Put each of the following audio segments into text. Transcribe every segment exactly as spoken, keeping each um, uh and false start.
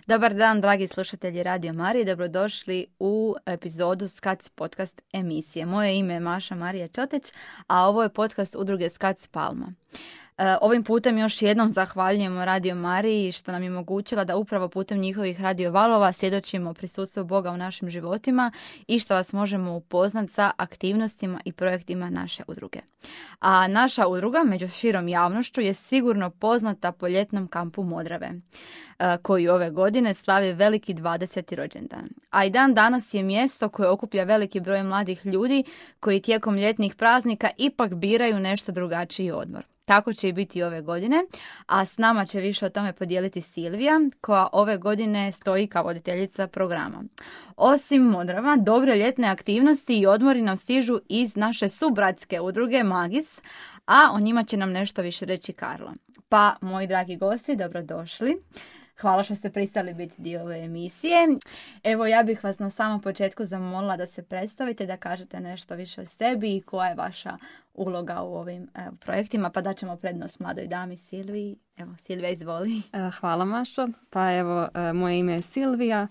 Dobar dan, dragi slušatelji Radio Marije, dobrodošli u epizodu Skac podcast emisije. Moje ime je Maša Marija Čoteć, a ovo je podcast udruge Skac Palma. Ovim putem još jednom zahvaljujemo Radio Mariji što nam je omogućila da upravo putem njihovih radio valova svjedočimo prisustvu Boga u našim životima i što vas možemo upoznati sa aktivnostima i projektima naše udruge. A naša udruga među širom javnošću je sigurno poznata po ljetnom kampu Modrave, koji ove godine slavi veliki dvadeseti rođendan. A i dan danas je mjesto koje okuplja veliki broj mladih ljudi koji tijekom ljetnih praznika ipak biraju nešto drugačiji odmor. Tako će i biti ove godine, a s nama će više o tome podijeliti Silvija, koja ove godine stoji kao voditeljica programa. Osim Modrava, dobre ljetne aktivnosti i odmori nam stižu iz naše subratske udruge Magis, a o njima će nam nešto više reći Karla. Pa, moji dragi gosti, dobrodošli. Hvala što ste pristali biti dio ove emisije. Evo, ja bih vas na samom početku zamolila da se predstavite, da kažete nešto više o sebi i koja je vaša uloga u ovim evo, projektima, pa daćemo prednost mladoj dami Silviji. Evo, Silvija, izvoli. Hvala, Mašo. Pa evo, moje ime je Silvija.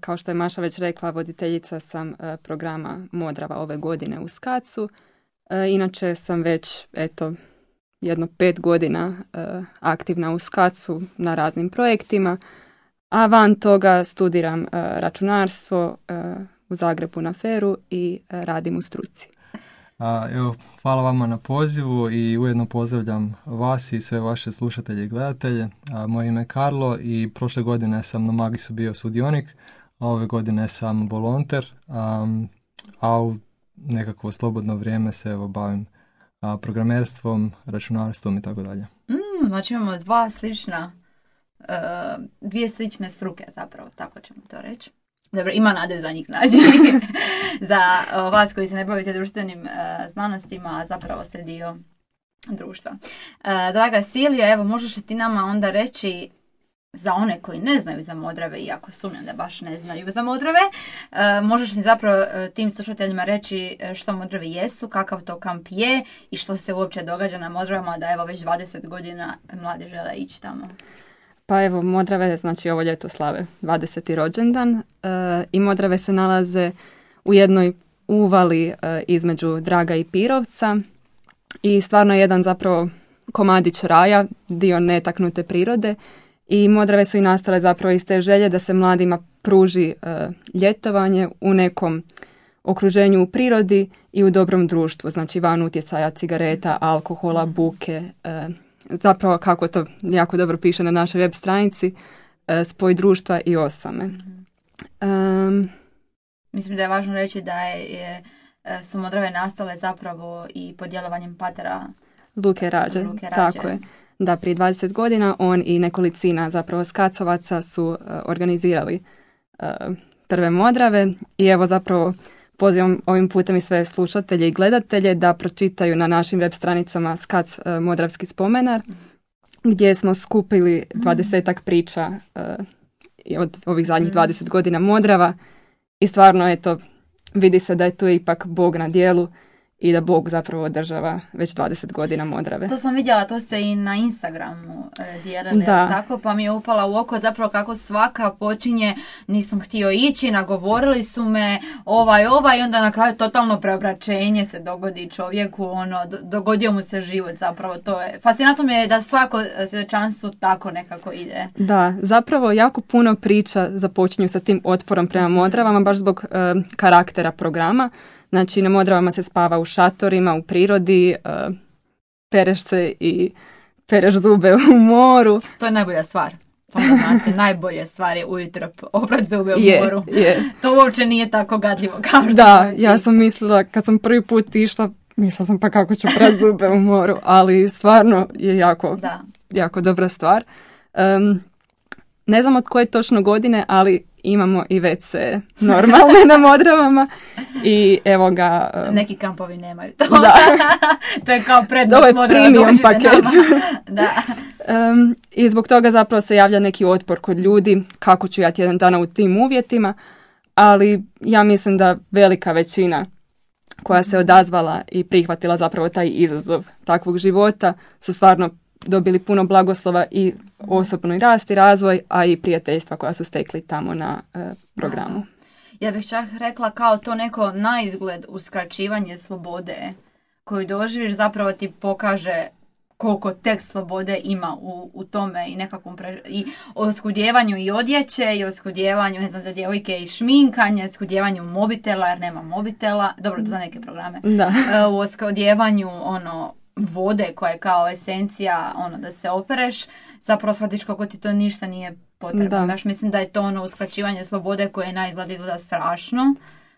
Kao što je Maša već rekla, voditeljica sam programa Modrava ove godine u Skacu. Inače sam već, eto, jedno pet godina uh, aktivna u Skacu na raznim projektima, a van toga studiram uh, računarstvo uh, u Zagrebu na Feru i uh, radim u struci. A, evo, hvala vama na pozivu i ujedno pozdravljam vas i sve vaše slušatelje i gledatelje. A, moje ime je Karlo i prošle godine sam na Magisu bio sudionik, a ove godine sam volonter, um, a u nekakvo slobodno vrijeme se evo bavim A, programerstvom, računarstvom i tako dalje. Mm, znači imamo dva slična, uh, dvije slične struke zapravo, tako ćemo to reći. Dobro, ima nade za njih, znači. Za uh, vas koji se ne bavite društvenim uh, znanostima, a zapravo ste dio društva. Uh, draga Silvija, evo možeš li ti nama onda reći, za one koji ne znaju za Modrave, iako sumnjam da baš ne znaju za Modrave, e, možeš li zapravo e, tim slušateljima reći što Modrave jesu, kakav to kamp je i što se uopće događa na Modravama, da evo već dvadeset godina mladi žele ići tamo? Pa evo, Modrave, znači ovo ljeto slave dvadeseti rođendan e, i Modrave se nalaze u jednoj uvali e, između Draga i Pirovca i stvarno je jedan zapravo komadić raja, dio netaknute prirode. I Modrave su i nastale zapravo iz te želje da se mladima pruži e, ljetovanje u nekom okruženju u prirodi i u dobrom društvu, znači van utjecaja cigareta, alkohola, buke, e, zapravo kako to jako dobro piše na našoj web stranici, e, spoj društva i osame. Um, Mislim da je važno reći da je, je, su Modrave nastale zapravo i pod djelovanjem patera Luke Rađe, Luke Rađe. Tako je. Da, prije dvadeset godina on i nekolicina zapravo Skacovaca su uh, organizirali uh, prve Modrave i evo zapravo pozivam ovim putem i sve slušatelje i gledatelje da pročitaju na našim web stranicama Skac uh, Modravski spomenar gdje smo skupili dvadesetak priča uh, od ovih zadnjih dvadeset godina Modrava i stvarno eto vidi se da je tu ipak Bog na djelu i da Bog zapravo održava već dvadeset godina Modrave. To sam vidjela, to ste i na Instagramu e, dijelili, da. Tako, pa mi je upala u oko zapravo kako svaka počinje, nisam htio ići, nagovorili su me, ovaj, ovaj, i onda na kraju totalno preobraćenje se dogodi čovjeku, ono, dogodio mu se život zapravo, to je, fascinantno mi je da svako svjedočanstvo tako nekako ide. Da, zapravo jako puno priča započinju sa tim otporom prema Modravama, baš zbog e, karaktera programa. Znači, na Modravama se spava u šatorima, u prirodi, uh, pereš se i pereš zube u moru. To je najbolja stvar. Samo da znate, najbolja stvar je ujutro oprat zube u je, moru. Je. To uopće nije tako gadljivo kao što Da, znači. Ja sam mislila, kad sam prvi put išla, mislila sam pa kako ću prat zube u moru, ali stvarno je jako, da. jako dobra stvar. Um, ne znam od koje točno godine, ali imamo i ve ce normalne na Modravama i evo ga... Um, Neki kampovi nemaju to. Da. To je kao prednost Modrava. Modrava. Ovo je premium paket. Da. Um, I zbog toga zapravo se javlja neki otpor kod ljudi kako ću ja tjedan dana u tim uvjetima, ali ja mislim da velika većina koja se odazvala i prihvatila zapravo taj izazov takvog života su stvarno dobili puno blagoslova i osobni rast i razvoj, a i prijateljstva koja su stekli tamo na uh, programu. Ja bih čak rekla kao to neko naizgled uskraćivanje slobode koju doživiš zapravo ti pokaže koliko tek slobode ima u, u tome i nekakvom pre... i oskudjevanju i odjeće i oskudjevanju, ne znam, za djevojke i šminkanje, oskudjevanju mobitela jer nema mobitela, dobro, za neke programe, da. u oskudjevanju ono vode koja je kao esencija ono da se opereš, zapravo shvatiš kako ti to ništa nije potrebno. Baš mislim da je to ono uskraćivanje slobode koje na izgled izgleda strašno.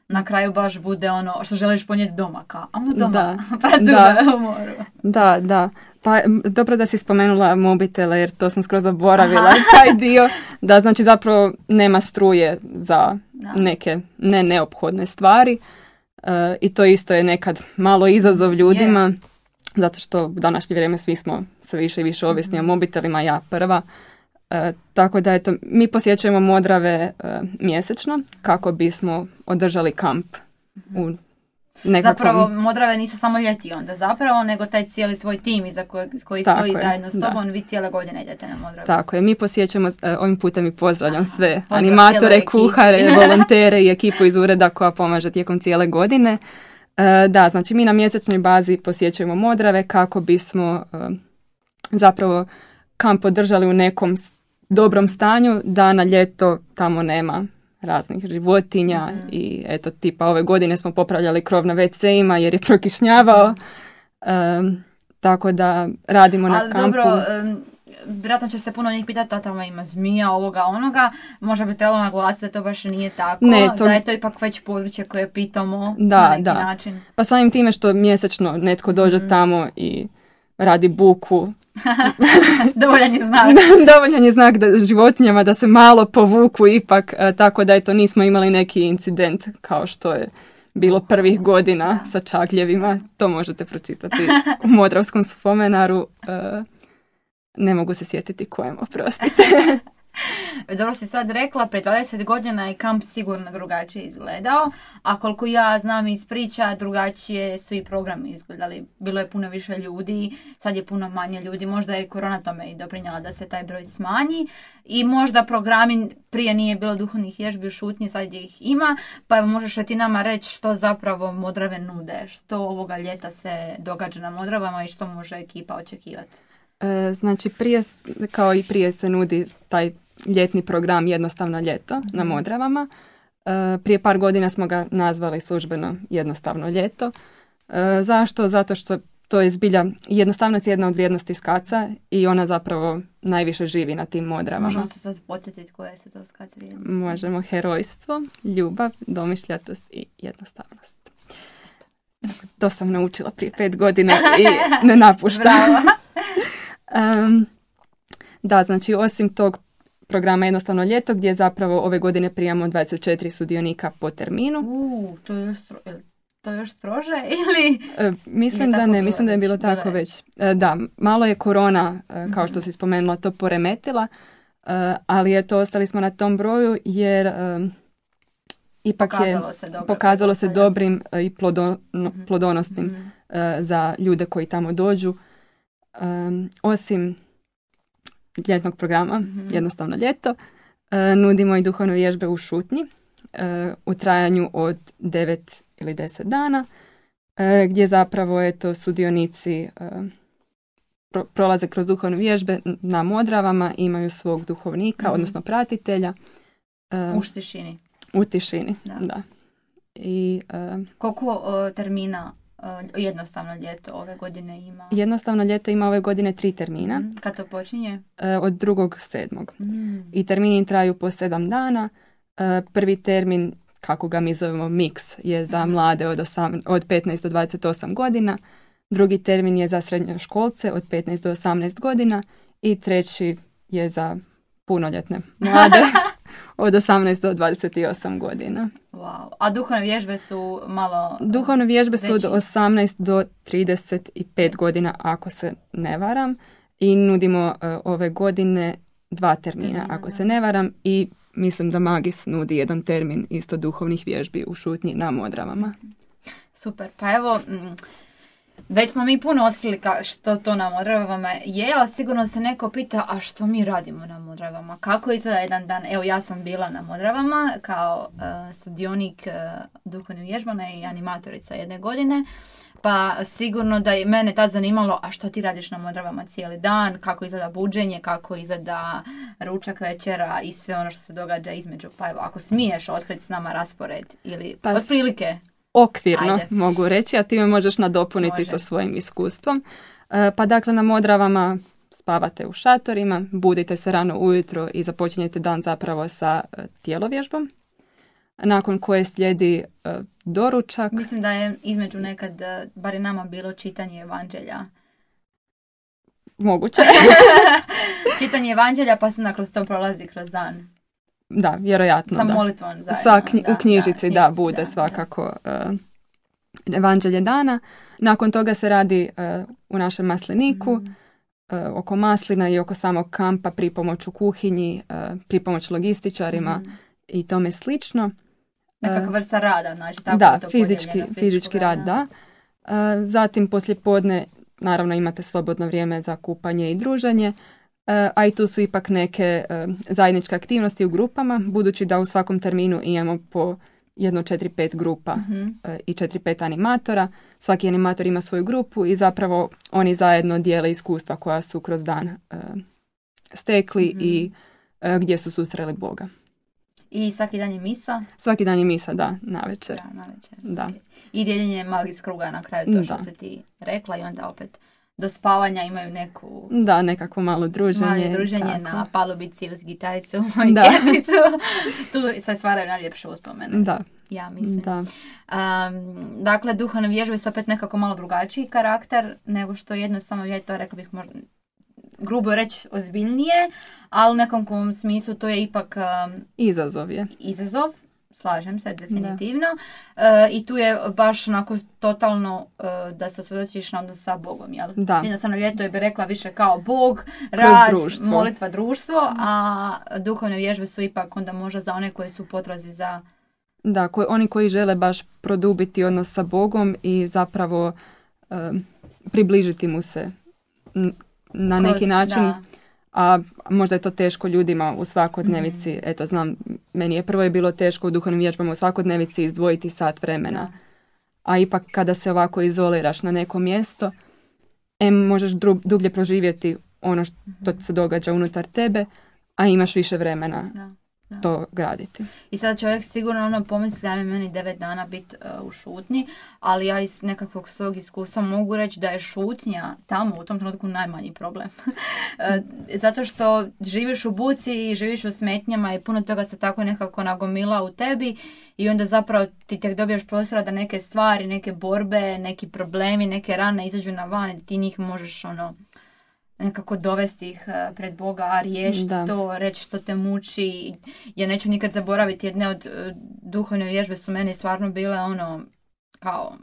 Na kraju baš bude ono što želiš ponijeti doma, kao, ajmo doma, da, pa tu da, u moru. Da, da. Pa dobro da si spomenula mobitele jer to sam skroz zaboravila, taj dio, da znači zapravo nema struje za da. neke ne neophodne stvari uh, i to isto je nekad malo izazov ljudima, yeah. zato što u današnje vrijeme svi smo sve više i više ovisni mm-hmm. o mobitelima, ja prva. E, tako da eto, mi posjećujemo Modrave e, mjesečno kako bismo održali kamp u nekakvom... Zapravo Modrave nisu samo ljeti onda zapravo, nego taj cijeli tvoj tim iza koji, koji stoji je, zajedno s tobom, da. Vi cijele godine idete na Modrave. Tako je, mi posjećujemo, e, ovim putem i pozdravljam Aha, sve pozdrav, animatore, kuhare, volontere i ekipu iz ureda koja pomaže tijekom cijele godine. E, da, znači mi na mjesečnoj bazi posjećujemo Modrave kako bismo e, zapravo kamp održali u nekom dobrom stanju, da na ljeto tamo nema raznih životinja mm-hmm. i eto tipa ove godine smo popravljali krov na ve ce-ima jer je prokišnjavao, um, tako da radimo na Ali kampu. Dobro, um, vjerojatno će se puno njih pitati, a tamo ima zmija, ovoga, onoga, možda bi trebalo naglasiti da to baš nije tako, ne, to... da je to ipak već područje koje pitamo da, na neki da. način. Pa samim time što mjesečno netko dođe mm-hmm. tamo i radi buku, dovoljan je znak. dovoljan je znak da životinjama da se malo povuku ipak, tako da eto nismo imali neki incident kao što je bilo prvih godina sa čagljevima. To možete pročitati u Modravskom spomenaru. Ne mogu se sjetiti kojem, oprostite. Dobro si sad rekla, pred dvadeset godina je kamp sigurno drugačije izgledao, a koliko ja znam iz priča, drugačije su i programi izgledali. Bilo je puno više ljudi, sad je puno manje ljudi, možda je korona tome i doprinjela da se taj broj smanji i možda programi, prije nije bilo duhovnih vježbi u šutnji, sad ih ima, pa evo možeš ti nama reći što zapravo Modrave nude, što ovoga ljeta se događa na Modravama i što može ekipa očekivati. E, znači prije, kao i prije se nudi taj ljetni program Jednostavno ljeto mm-hmm. na Modravama. E, prije par godina smo ga nazvali službeno Jednostavno ljeto. E, zašto? Zato što to je zbilja, jednostavnost je jedna od vrijednosti skaca i ona zapravo najviše živi na tim Modravama. Možemo se sad podsjetiti koje su to skac vrijednosti? Možemo. Herojstvo, ljubav, domišljatost i jednostavnost. Tako, to sam naučila prije pet godina i ne napuštam. um, da, znači osim tog programa Jednostavno ljeto gdje zapravo ove godine prijamo dvadeset četiri sudionika po terminu. Uh, to je još, stro, to je još strože ili? E, mislim da ne, mislim da je bilo tako već. E, da, malo je korona, e, kao što si spomenula, to poremetila, e, ali eto, ostali smo na tom broju jer e, ipak pokazalo je se dobro, pokazalo se dobrim e, i plodo, no, mm-hmm. plodonosnim mm-hmm. e, za ljude koji tamo dođu. E, osim ljetnog programa, mm-hmm. Jednostavno ljeto, e, nudimo i duhovne vježbe u šutnji e, u trajanju od devet ili deset dana, e, gdje zapravo eto, sudionici e, pro, prolaze kroz duhovne vježbe na Modravama, imaju svog duhovnika, mm-hmm. odnosno pratitelja. E, u tišini. U tišini, da. da. I, e, Koliko o, termina Jednostavno ljeto ove godine ima? Jednostavno ljeto ima ove godine tri termina. Mm, kad to počinje? E, od drugog sedmog. Mm. I termini traju po sedam dana. E, prvi termin, kako ga mi zovemo mix, je za mlade od, osam, od petnaest do dvadeset osam godina. Drugi termin je za srednjoškolce od petnaest do osamnaest godina. I treći je za punoljetne mlade od osamnaest do dvadeset osam godina. Wow. A duhovne vježbe su malo... Duhovne vježbe su od osamnaest do trideset pet godina, ako se ne varam. I nudimo uh, ove godine dva termina, termina ako da. se ne varam. I mislim da Magis nudi jedan termin isto duhovnih vježbi u šutnji na Modravama. Super. Pa evo... Mm, Već smo mi puno otkrili ka, što to na Modravama je, ali sigurno se neko pita, a što mi radimo na Modravama? Kako izgleda jedan dan? Evo, ja sam bila na Modravama kao uh, sudionik uh, duhovne vježbane i animatorica jedne godine, pa sigurno da je mene tad zanimalo, a što ti radiš na Modravama cijeli dan, kako izgleda buđenje, kako izgleda ručak, večera i sve ono što se događa između. Pa evo, ako smiješ otkriti s nama raspored ili pa otprilike... Okvirno Ajde. mogu reći, a ti me možeš nadopuniti Može. sa svojim iskustvom. E, pa dakle, na Modravama spavate u šatorima, budite se rano ujutro i započinjete dan zapravo sa e, tjelovježbom, nakon koje slijedi e, doručak. Mislim da je između nekad, eh, bar je nama bilo čitanje evanđelja. Moguće. Čitanje evanđelja pa se onda kroz to prolazi kroz dan. Da, vjerojatno. Sa da. molitvom zajedno. Sa knji- da, u knjižici, da, da, bude da, svakako uh, evanđelje dana. Nakon toga se radi uh, u našem masliniku, Mhm. uh, oko maslina i oko samog kampa, pripomoć u kuhinji, uh, pripomoć logističarima Mhm. i tome slično. Nekakva vrsta rada, znači tako Da, je to fizički, podijeljeno, fizički rad, rada. da. Uh, zatim poslijepodne naravno imate slobodno vrijeme za kupanje i druženje, uh, a i tu su ipak neke uh, zajedničke aktivnosti u grupama, budući da u svakom terminu imamo po jedno četiri pet grupa Mhm. uh, i četiri pet animatora. Svaki animator ima svoju grupu i zapravo oni zajedno dijele iskustva koja su kroz dan uh, stekli Mhm. i uh, gdje su susreli Boga. I svaki dan je misa. Svaki dan je misa, da, navečer. Da, navečer. Da. Ok. I dijeljenje malih iz kruga na kraju, to što Da. si ti rekla i onda opet do spavanja imaju neku Da, nekako malo druženje. malo druženje tako. na palubici uz gitaricu i Da. pjesmicu. Tu se stvaraju najljepše uspomene. Da, Ja mislim. da. Um, dakle, duhovne vježbe su opet nekako malo drugačiji karakter nego što jednostavno, ja to rekla bih možda grubo reći ozbiljnije, ali u nekom kom smislu to je ipak um, Izazov je. izazov, slažem se definitivno. E, I tu je baš onako totalno e, da se osvjedočiš na odnos sa Bogom, jel? Da. Jednostavno ljeto je bi rekla više kao Bog, rad, društvo. molitva, društvo, a duhovne vježbe su ipak onda možda za one koji su u potrazi za... Da, koji, oni koji žele baš produbiti odnos sa Bogom i zapravo um, približiti mu se n- na kroz- neki način, da. a možda je to teško ljudima u svakodnevici. Eto, znam, meni je prvo je bilo teško u duhovnim vježbama u svakodnevici izdvojiti sat vremena. Da. A ipak kada se ovako izoliraš na neko mjesto, em možeš dru- dublje proživjeti ono što se događa unutar tebe, a imaš više vremena Da, da. to graditi. I sada čovjek sigurno ono pomisli da je meni devet dana biti uh, u šutnji, ali ja iz nekakvog svog iskustva mogu reći da je šutnja tamo u tom trenutku najmanji problem. Uh, zato što živiš u buci i živiš u smetnjama i puno toga se tako nekako nagomila u tebi i onda zapravo ti tek dobijaš prostora da neke stvari, neke borbe, neki problemi, neke rane izađu na van i ti njih možeš ono nekako dovesti ih eh, pred Boga, riješiti Da. to, reći što te muči. Ja neću nikad zaboraviti, jedne od eh, duhovne vježbe su meni stvarno bile ono, kao,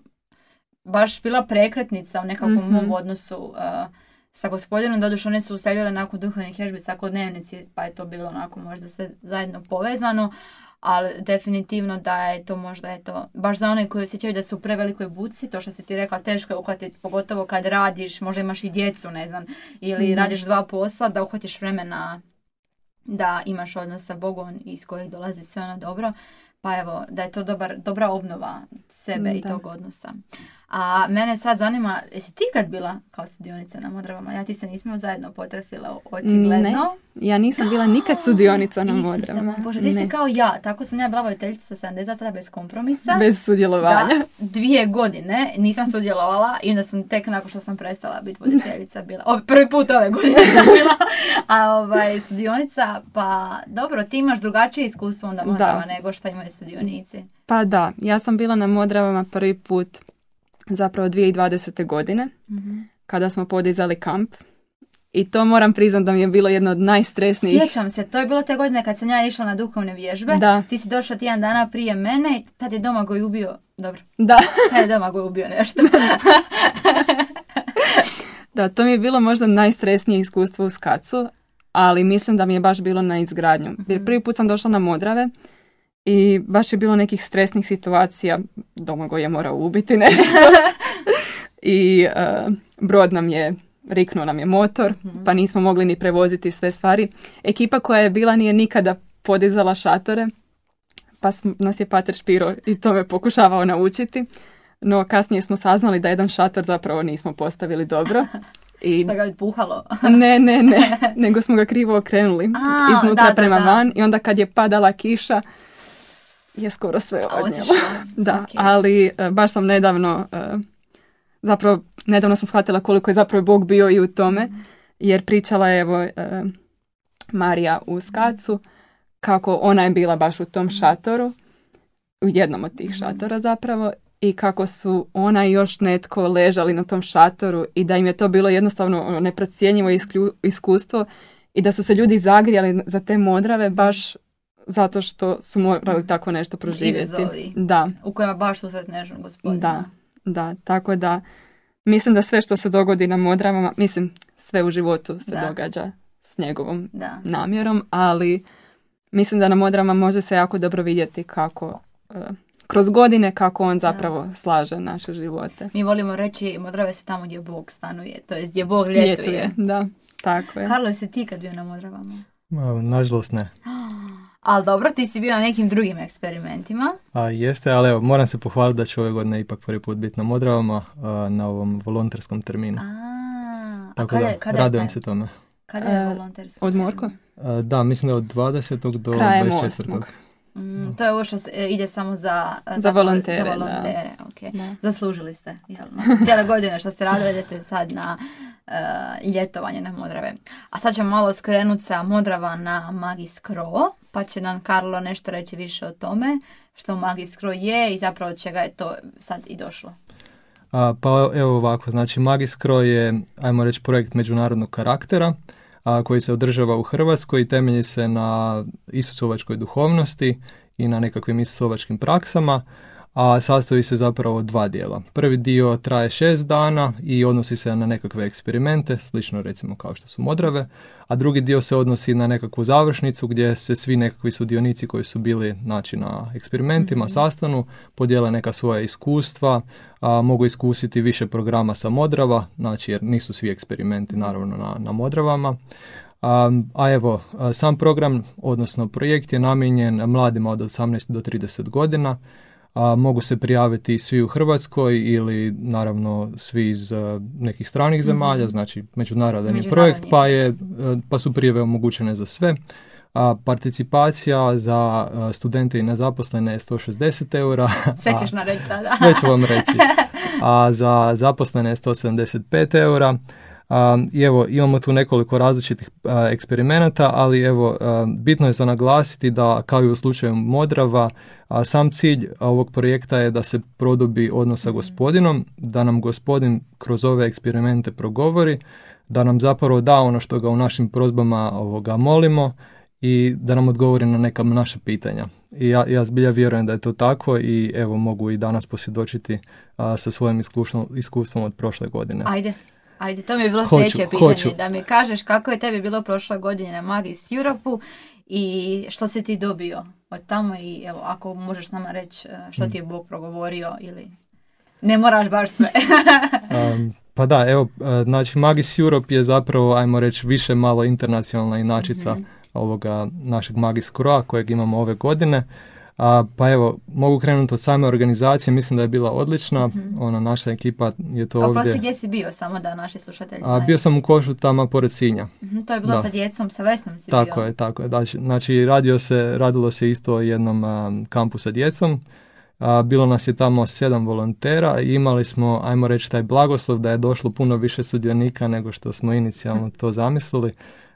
baš bila prekretnica u nekakvom Mhm. mom odnosu eh, sa gospodinom. Doduše one su uslijedile nakon duhovnih vježbi svakodnevnici, pa je to bilo onako možda sve zajedno povezano, ali definitivno da je to možda je to baš za one koji osjećaju da su u prevelikoj buci, to što si ti rekla teško je uhvatiti, pogotovo kad radiš, možda imaš i djecu, ne znam, ili Mhm. radiš dva posla, da uhvatiš vremena da imaš odnos sa Bogom iz kojeg dolazi sve ono dobro. Pa evo, da je to dobar, dobra obnova sebe i Da. tog odnosa. A mene sad zanima, jesi ti kad bila kao sudionica na Modravama? Ja ti se nismo zajedno potrefile očigledno. Ne, ja nisam bila nikad sudionica na Isuse Modravama. moj Bože, ti si Ne, kao ja, tako sam ja bila voditeljica sa sedamdeset tada bez kompromisa. bez sudjelovanja. Da, dvije godine nisam sudjelovala i onda sam tek nakon što sam prestala biti voditeljica bila, o, prvi put ove godine sam bila, a ovaj, sudionica, pa dobro, ti imaš drugačije iskustvo onda Modrava Da. nego što imaju sudionici. Pa da, ja sam bila na Modravama prvi put zapravo dvije tisuće dvadesete godine, kada smo podizali kamp. I to moram priznati da mi je bilo jedno od najstresnijih. Sjećam se, to je bilo te godine kad sam ja išla na duhovne vježbe. Da. Ti si došla tjedan dana prije mene i tad je Domagoj ubio, dobro, Da, tad je Domagoj ubio nešto. da, to mi je bilo možda najstresnije iskustvo u skacu, ali mislim da mi je baš bilo na izgradnju. Jer prvi put sam došla na Modrave i baš je bilo nekih stresnih situacija. Domagoj je morao ubiti nešto. i uh, brod nam je, riknuo nam je motor, mm-hmm. pa nismo mogli ni prevoziti sve stvari. Ekipa koja je bila nije nikada podizala šatore, pa sm, nas je pater Špiro i to me pokušavao naučiti. No kasnije smo saznali da jedan šator zapravo nismo postavili dobro. I što ga je puhalo? ne, ne, ne, nego smo ga krivo okrenuli A, iznutra da, prema da, da. van i onda kad je padala kiša je skoro sve odnijelo. Da, okay. Ali baš sam nedavno, zapravo nedavno sam shvatila koliko je zapravo Bog bio i u tome, jer pričala je evo Marija u Skacu kako ona je bila baš u tom šatoru, u jednom od tih šatora zapravo, i kako su ona i još netko ležali na tom šatoru i da im je to bilo jednostavno neprocjenjivo iskustvo i da su se ljudi zagrijali za te modrave baš zato što su morali tako nešto proživjeti. Izazovi. Da. U kojima baš susretneš gospodina. Da, da, tako da mislim da sve što se dogodi na modravama, mislim sve u životu se da. događa s njegovom da. namjerom, ali mislim da na modravama može se jako dobro vidjeti kako... Uh, kroz godine kako on zapravo da. slaže naše živote. Mi volimo reći Modrave su tamo gdje Bog stanuje, to je gdje Bog ljetuje. ljetuje. Da, tako je. Karlo, jesi ti kad bio na Modravama? Ma, nažalost ne. Ali dobro, ti si bio na nekim drugim eksperimentima. A, jeste, ali evo, moram se pohvaliti da ću ove godine ipak prvi put biti na Modravama a, na ovom volonterskom terminu. A, tako a da, kada, kada radujem je se tome. Kada je volonterski? Od Morko? A, da, mislim da od dvadesetog do Krajem dvadeset četvrtog Mm, to je ovo što ide samo za, za, za volontere. Za volontere. Okay. Da. Zaslužili ste. Jelno. Cijela godina što ste radili, idete sad na uh, ljetovanje na Modrave. A sad ćemo malo skrenuti sa Modrava na Magiskro, pa će nam Karlo nešto reći više o tome što Magiskro je i zapravo od čega je to sad i došlo. A, pa evo ovako, znači Magiskro je, ajmo reći, projekt međunarodnog karaktera, a, koji se održava u Hrvatskoj i temelji se na isusovačkoj duhovnosti i na nekakvim isusovačkim praksama, a sastoji se zapravo od dva dijela. Prvi dio traje šest dana i odnosi se na nekakve eksperimente, slično recimo kao što su Modrave, a drugi dio se odnosi na nekakvu završnicu gdje se svi nekakvi sudionici koji su bili, znači, na eksperimentima mm-hmm. sastanu, podijele neka svoja iskustva, a, mogu iskusiti više programa sa Modrava, znači jer nisu svi eksperimenti naravno na, na Modravama. A, a evo, a, sam program, odnosno projekt je namijenjen mladima od osamnaest do trideset godina. A, mogu se prijaviti svi u Hrvatskoj ili naravno svi iz uh, nekih stranih zemalja, mm-hmm. znači međunarodan je projekt, pa, je, uh, pa su prijave omogućene za sve. A, participacija za uh, studente i nezaposlene je sto šezdeset eura. Sve ćeš nam reći sada. Sve ću vam reći. A za zaposlene je sto sedamdeset pet eura. Um, I evo, imamo tu nekoliko različitih uh, eksperimenata, ali evo, uh, bitno je za naglasiti da, kao i u slučaju Modrava, uh, sam cilj ovog projekta je da se produbi odnos sa gospodinom, da nam gospodin kroz ove eksperimente progovori, da nam zapravo da ono što ga u našim prozbama ovoga molimo i da nam odgovori na neka naša pitanja. I ja, ja zbilja vjerujem da je to tako i evo, mogu i danas posvjedočiti uh, sa svojim iskustvom, iskustvom od prošle godine. Ajde. Ajde, to mi je bilo hoću, sljedeće pitanje, hoću. Da mi kažeš kako je tebi bilo prošle godine na Magis Europe-u i što si ti dobio od tamo i evo, ako možeš nama reći što ti je Bog progovorio ili ne moraš baš sve. um, pa da, evo, znači Magis Europe je zapravo, ajmo reći, više malo internacionalna inačica mm-hmm. ovoga našeg Magis Croa kojeg imamo ove godine. A, pa evo, mogu krenuti od same organizacije, mislim da je bila odlična, mm-hmm. ona naša ekipa je to ovdje. Oprosti, gdje si bio, samo da naši slušatelji znaju? A, bio sam u Košutama pored Sinja. Mm-hmm, to je bilo da. Sa djecom, sa Vesnom si tako bio. Tako je, tako je. Znači, znači radio se, radilo se isto o jednom a, kampu sa djecom. A, bilo nas je tamo sedam volontera i imali smo, ajmo reći, taj blagoslov da je došlo puno više sudionika nego što smo inicijalno to zamislili.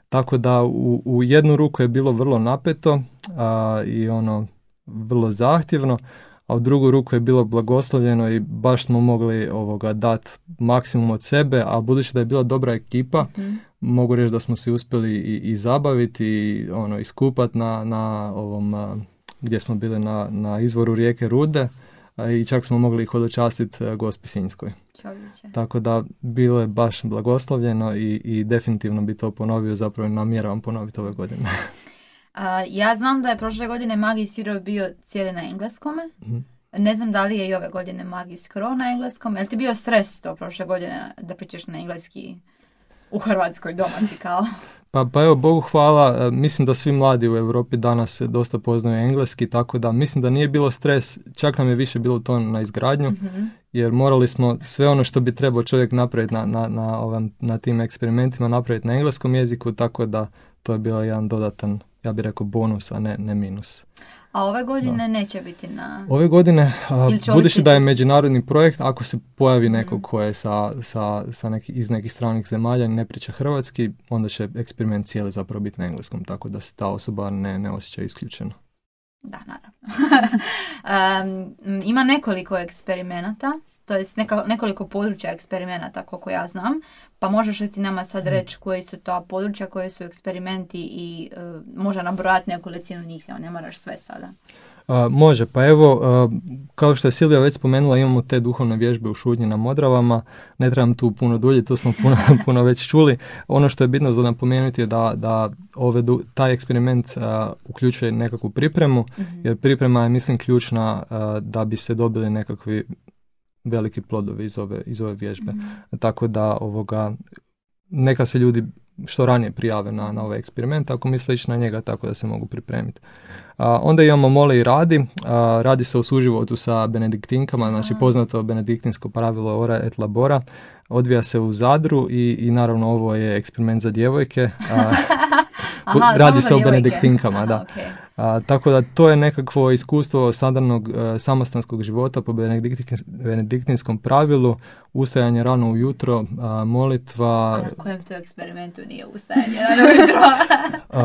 Tako da u, u jednu ruku je bilo vrlo napeto a, i ono vrlo zahtjevno, a u drugu ruku je bilo blagoslovljeno i baš smo mogli ovoga dati maksimum od sebe, a budući da je bila dobra ekipa, mm-hmm. mogu reći da smo se uspjeli i, i zabaviti i ono, iskupati na, na ovom, a, gdje smo bili na, na izvoru rijeke Rude a, i čak smo mogli ih hodočastiti Gospi Sinjskoj. Čovječe. Tako da bilo je baš blagoslovljeno i, i definitivno bi to ponovio, zapravo namjeravam ponoviti ove godine. Uh, ja znam da je prošle godine Magis Europe bio cijeli na engleskome. Mm-hmm. Ne znam da li je i ove godine magij skoro na engleskom. Jel ti bio stres to prošle godine da pričaš na engleski u Hrvatskoj, doma si kao? Pa, pa evo, Bogu hvala, mislim da svi mladi u Europi danas dosta poznaju engleski, tako da mislim da nije bilo stres, čak nam je više bilo to na izgradnju, mm-hmm. jer morali smo sve ono što bi trebao čovjek napraviti na, na, na, ovam, na tim eksperimentima napraviti na engleskom jeziku, tako da to je bio jedan dodatan, ja bih rekao, bonus, a ne, ne minus. A ove godine da. neće biti na... Ove godine, a, budući da je međunarodni projekt, ako se pojavi neko mm. ko je sa, sa, sa neki, iz nekih stranih zemalja i ne priča hrvatski, onda će eksperiment cijeli zapravo biti na engleskom, tako da se ta osoba ne, ne osjeća isključeno. Da, naravno. um, ima nekoliko eksperimenata, to jest neka, nekoliko područja eksperimenata, koliko ja znam, pa možeš li ti nama sad reći koji su to područja, koji su eksperimenti i uh, možda nabrojati nekolicinu njih, ne moraš sve sada. Uh, može, pa evo, uh, kao što je Silvija već spomenula, imamo te duhovne vježbe u šutnji na Modravama, ne trebam tu puno dulje, to smo puno, puno već čuli. Ono što je bitno za napomenuti je da, da ove, taj eksperiment uh, uključuje nekakvu pripremu, mm-hmm. jer priprema je, mislim, ključna uh, da bi se dobili nekakvi veliki plodovi iz ove, iz ove vježbe. Mm-hmm. Tako da ovoga, neka se ljudi što ranije prijave na, na ovaj eksperiment, ako misle ići na njega, tako da se mogu pripremiti. A, onda imamo Mole i Radi. A, radi se o suživotu sa benediktinkama, znači poznato benediktinsko pravilo ora et labora. Odvija se u Zadru i, i naravno ovo je eksperiment za djevojke. A, Aha, radi se o djevojke. benediktinkama, Aha, da. Okay. A, tako da to je nekakvo iskustvo standardnog uh, samostanskog života po benediktins, benediktinskom pravilu, ustajanje rano ujutro, uh, molitva... A na kojem to eksperimentu nije ustajanje rano ujutro?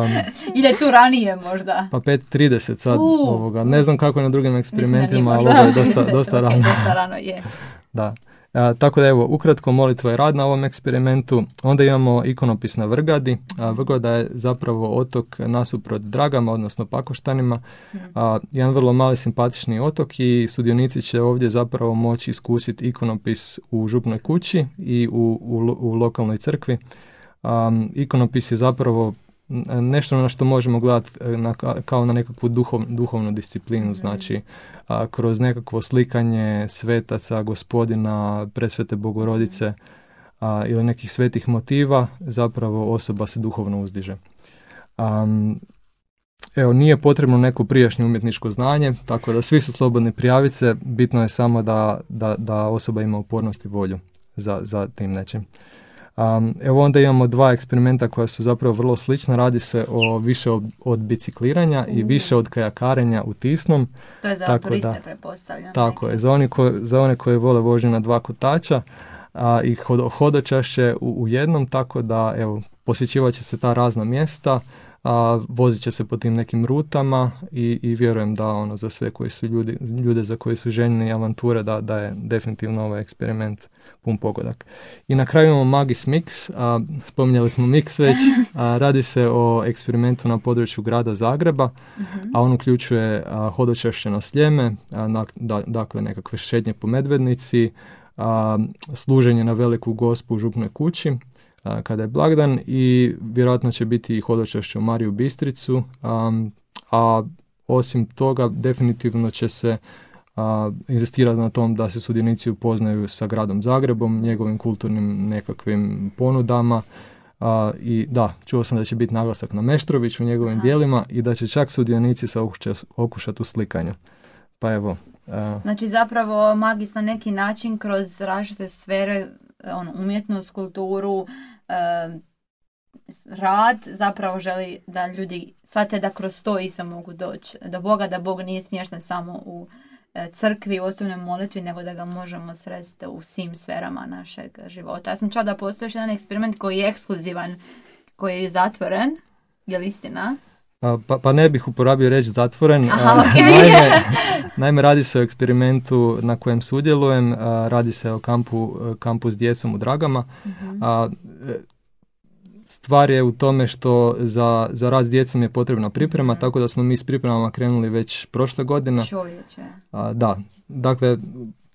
um, Ili tu ranije možda? Pa pet trideset sad, uh, ovoga. Ne znam kako je na drugim eksperimentima, ali ovo je dosta, dosta okay, rano. dosta rano je. Da. A, tako da evo, ukratko molitva je rad na ovom eksperimentu. Onda imamo ikonopis na Vrgadi. A, Vrgada je zapravo otok nasuprot Dragama, odnosno Pakoštanima. A, jedan vrlo mali simpatični otok i sudionici će ovdje zapravo moći iskusiti ikonopis u župnoj kući i u, u, u lokalnoj crkvi. A, ikonopis je zapravo nešto na što možemo gledati na, kao na nekakvu duhov, duhovnu disciplinu, znači a, kroz nekakvo slikanje svetaca, Gospodina, Presvete Bogorodice a, ili nekih svetih motiva, zapravo osoba se duhovno uzdiže. Um, evo, nije potrebno neko prijašnje umjetničko znanje, tako da svi su slobodni prijaviti se, bitno je samo da, da, da osoba ima upornost i volju za, za tim nečim. Um, evo onda imamo dva eksperimenta koja su zapravo vrlo slična. Radi se o više od, od bicikliranja mm. i više od kajakarenja u Tisnom. To je za tako turiste, da, pretpostavljam. Tako neki. je, za, oni ko, za one koje vole vožnju na dva kotača a, i hod, hodočašće u, u jednom, tako da evo, posjećivat će se ta razna mjesta, a, vozit će se po tim nekim rutama i, i vjerujem da ono za sve koji su ljudi, ljude za koji su željni avanture da, da je definitivno ovaj eksperiment pun pogodak. I na kraju imamo Magis Mix, a, spominjali smo Mix već, a, radi se o eksperimentu na području grada Zagreba, mm-hmm. a on uključuje a, hodočašće na Sljeme, a, na, da, dakle nekakve šetnje po Medvednici, a, služenje na Veliku Gospu u župnoj kući, a, kada je blagdan i vjerojatno će biti i hodočašće u Mariju Bistricu, a, a osim toga definitivno će se a, inzistirati na tom da se sudionici upoznaju sa gradom Zagrebom, njegovim kulturnim nekakvim ponudama a, i da, čuo sam da će biti naglasak na Meštroviću u njegovim Aha. dijelima i da će čak sudionici se okušati, okušati u slikanju. Pa evo. A... Znači zapravo magis na neki način kroz različite sfere, ono, umjetnost, kulturu, e, rad, zapravo želi da ljudi shvate da kroz to isto mogu doći do Boga, da Bog nije smješten samo u crkvi, u osobnoj molitvi, nego da ga možemo sresti u svim sferama našeg života. Ja sam čula da postoji još jedan eksperiment koji je ekskluzivan, koji je zatvoren. Je li istina? A, pa, pa ne bih uporabio reći zatvoren. Aha, a, okay. naime, naime, radi se o eksperimentu na kojem sudjelujem. A, radi se o kampu, kampu s djecom u Dragama. Uh-huh. A, stvar je u tome što za, za rad s djecom je potrebna priprema, tako da smo mi s pripremama krenuli već prošle godine. Čovječe. A, da, dakle,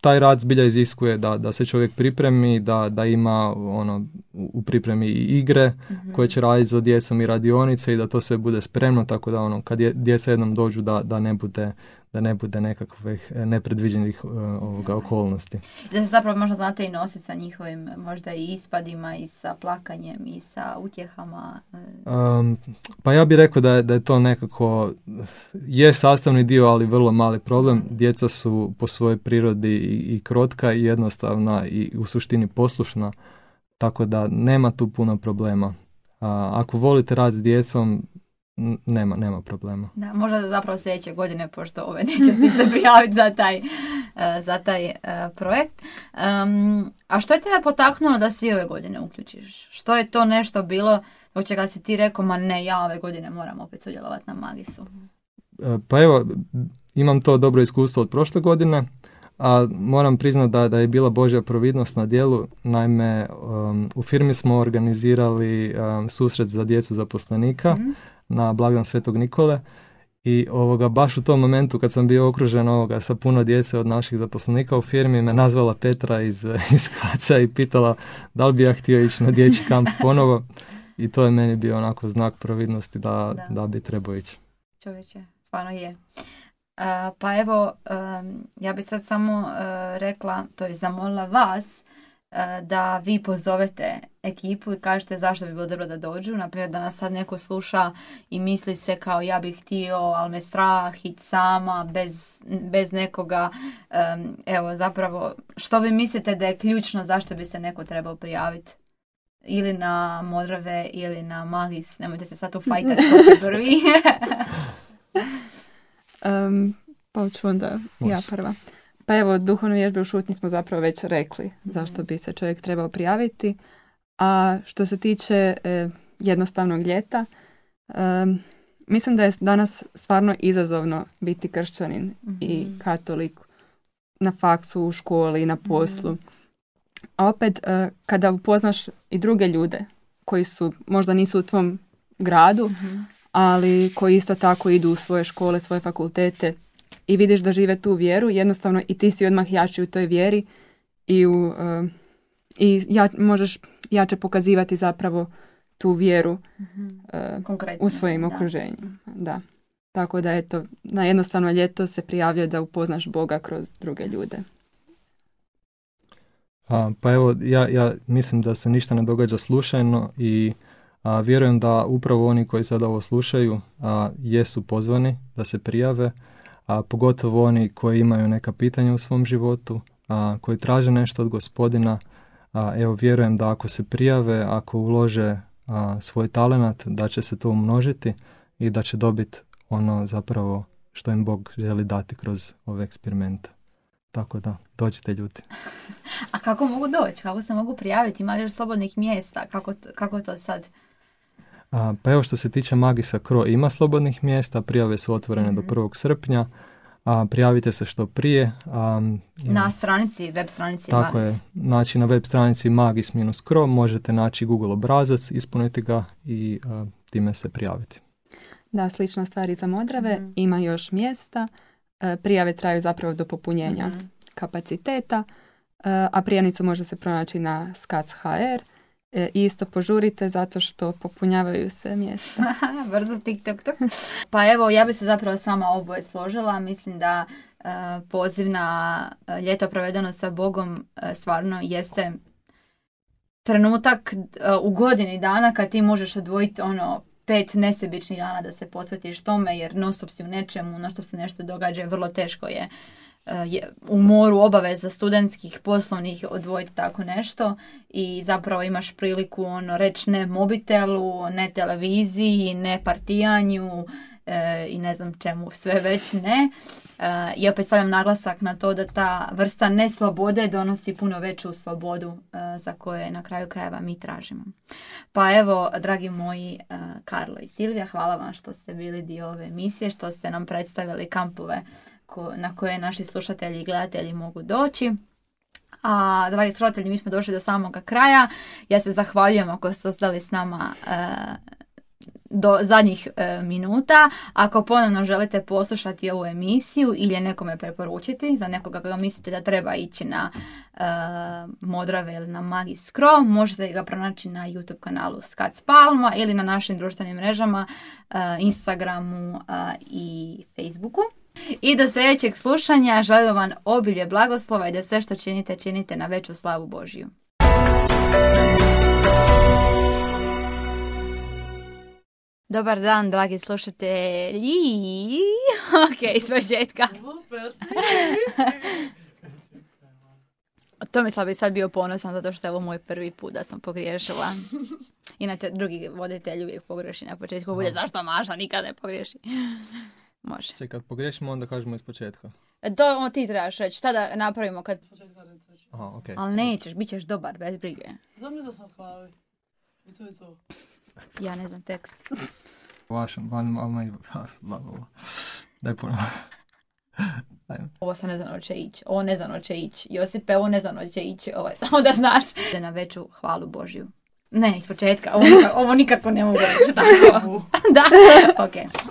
taj rad zbilja iziskuje da, da se čovjek pripremi, da, da ima ono, u pripremi i igre uh-huh. koje će raditi za djecom i radionice i da to sve bude spremno, tako da ono, kad je, djeca jednom dođu da, da ne bude da ne bude nekakvih nepredviđenih uh, ovoga okolnosti. Da se zapravo možda znate i nositi sa njihovim možda i ispadima i sa plakanjem i sa utjehama. Um, pa ja bih rekao da je, da je to nekako je sastavni dio, ali vrlo mali problem. Djeca su po svojoj prirodi i, i krotka i jednostavna i u suštini poslušna, tako da nema tu puno problema. A, ako volite rad s djecom, Nema, nema problema. Da, možda zapravo sljedeće godine, pošto ove neće se prijaviti za taj, uh, za taj uh, projekt. Um, a što je tebe potaknulo da si ove godine uključiš? Što je to nešto bilo zbog čega si ti rekao, ma ne, ja ove godine moram opet sudjelovati na Magisu? Uh, pa evo, imam to dobro iskustvo od prošle godine, a moram priznati da, da je bila Božja providnost na djelu. Naime, um, u firmi smo organizirali um, susret za djecu zaposlenika, mm-hmm. na blagdan Svetog Nikole i ovoga, baš u tom momentu kad sam bio okružen ovoga, sa puno djece od naših zaposlenika u firmi, me nazvala Petra iz, iz Kaca i pitala da li bi ja htio ići na dječji kamp ponovo i to je meni bio onako znak providnosti da, da. da bi trebao ići. Čovječe, stvarno je. Uh, pa evo, um, ja bi sad samo uh, rekla, to je zamolila vas da vi pozovete ekipu i kažete zašto bi bilo dobro da dođu. Naprimjer, da nas sad neko sluša i misli se kao ja bih htio, ali me strah ići sama, bez, bez nekoga. Um, evo, zapravo, što vi mislite da je ključno zašto bi se neko trebao prijaviti? Ili na Modrave, ili na Magis. Nemojte se sad ufajtati ko će prvi. um, pa ću onda ja prva. Pa evo, duhovne vježbe u šutnji smo zapravo već rekli zašto bi se čovjek trebao prijaviti. A što se tiče e, jednostavnog ljeta, e, mislim da je danas stvarno izazovno biti kršćanin mm-hmm. i katolik na faksu, u školi, na poslu. Mm-hmm. A opet, e, kada upoznaš i druge ljude koji su, možda nisu u tvom gradu, mm-hmm. ali koji isto tako idu u svoje škole, svoje fakultete, i vidiš da žive tu vjeru, jednostavno i ti si odmah jači u toj vjeri i, u, uh, i ja, možeš jače pokazivati zapravo tu vjeru uh, u svojim da. okruženjima. Da. Tako da eto, na jednostavno ljeto se prijavljuje da upoznaš Boga kroz druge ljude. A, pa evo, ja, ja mislim da se ništa ne događa slučajno i a, vjerujem da upravo oni koji sad ovo slušaju a, jesu pozvani da se prijave, a pogotovo oni koji imaju neka pitanja u svom životu, a, koji traže nešto od Gospodina. A, evo, vjerujem da ako se prijave, ako ulože a, svoj talenat, da će se to umnožiti i da će dobiti ono zapravo što im Bog želi dati kroz ove eksperimente. Tako da, dođite ljudi. A kako mogu doći? Kako se mogu prijaviti? Ima li još slobodnih mjesta? Kako, kako to sad? A, pa evo, što se tiče Magisa Cro, ima slobodnih mjesta, prijave su otvorene mm-hmm. do prvog srpnja, a prijavite se što prije. A, na stranici, web stranici tako Magis. Je, znači na web stranici magis cro možete naći Google obrazac, ispuniti ga i a, time se prijaviti. Da, slična stvar i za Modrave, mm-hmm. ima još mjesta, prijave traju zapravo do popunjenja mm-hmm. kapaciteta, a prijavnicu može se pronaći na skac tačka ha er. I isto požurite zato što popunjavaju se mjesta. Brzo TikTok. Pa evo, ja bi se zapravo sama oboje složila. Mislim da uh, poziv na uh, ljeto provedeno sa Bogom uh, stvarno jeste trenutak uh, u godini dana kad ti možeš odvojiti ono pet nesebičnih dana da se posvetiš tome, jer non stop si u nečemu, non stop se nešto događa, vrlo teško je je u moru obaveza studentskih, poslovnih odvojiti tako nešto i zapravo imaš priliku ono reći ne mobitelu, ne televiziji, ne partijanju e, i ne znam čemu sve već ne. E, I opet stavljam naglasak na to da ta vrsta neslobode donosi puno veću slobodu e, za koje na kraju krajeva mi tražimo. Pa evo, dragi moji e, Karlo i Silvija, hvala vam što ste bili dio ove emisije, što ste nam predstavili kampove na koje naši slušatelji i gledatelji mogu doći. A, dragi slušatelji, mi smo došli do samoga kraja. Ja se zahvaljujem ako ste ostali s nama e, do zadnjih e, minuta. Ako ponovno želite poslušati ovu emisiju ili je nekome preporučiti, za nekoga koga mislite da treba ići na e, Modrave ili na Magiskro, možete ga pronaći na YouTube kanalu Skac Palma ili na našim društvenim mrežama, e, Instagramu e, i Facebooku. I do sljedećeg slušanja želim vam obilje blagoslova i da sve što činite, činite na veću slavu Božiju. Dobar dan, dragi slušatelji. Ok, s početka. Tomislav bi sad bio ponosan zato što je ovo moj prvi put da sam pogriješila. Inače, drugi voditelj uvijek pogreši na početku. Bude zašto Maša nikad ne pogriješi. Može. Čekaj, kad pogriješimo onda kažemo iz početka. To on ti trebaš reći. Šta da napravimo kad... Aha, okej. Ali nećeš, bit ćeš dobar, bez brige. Znam da sam kavi. I to je to. Ja ne znam tekst. Vašem, van mama i... Daj ponovno. Ovo sam ne znam hoće ići. Ovo ne znam hoće ići. Josipe, ovo ne znam hoće ići. Ovo je samo da znaš. Na veću hvalu Božju. Ne, iz početka. Ovo, ovo nikako ne mogu reći tako. Da, okej. Okay.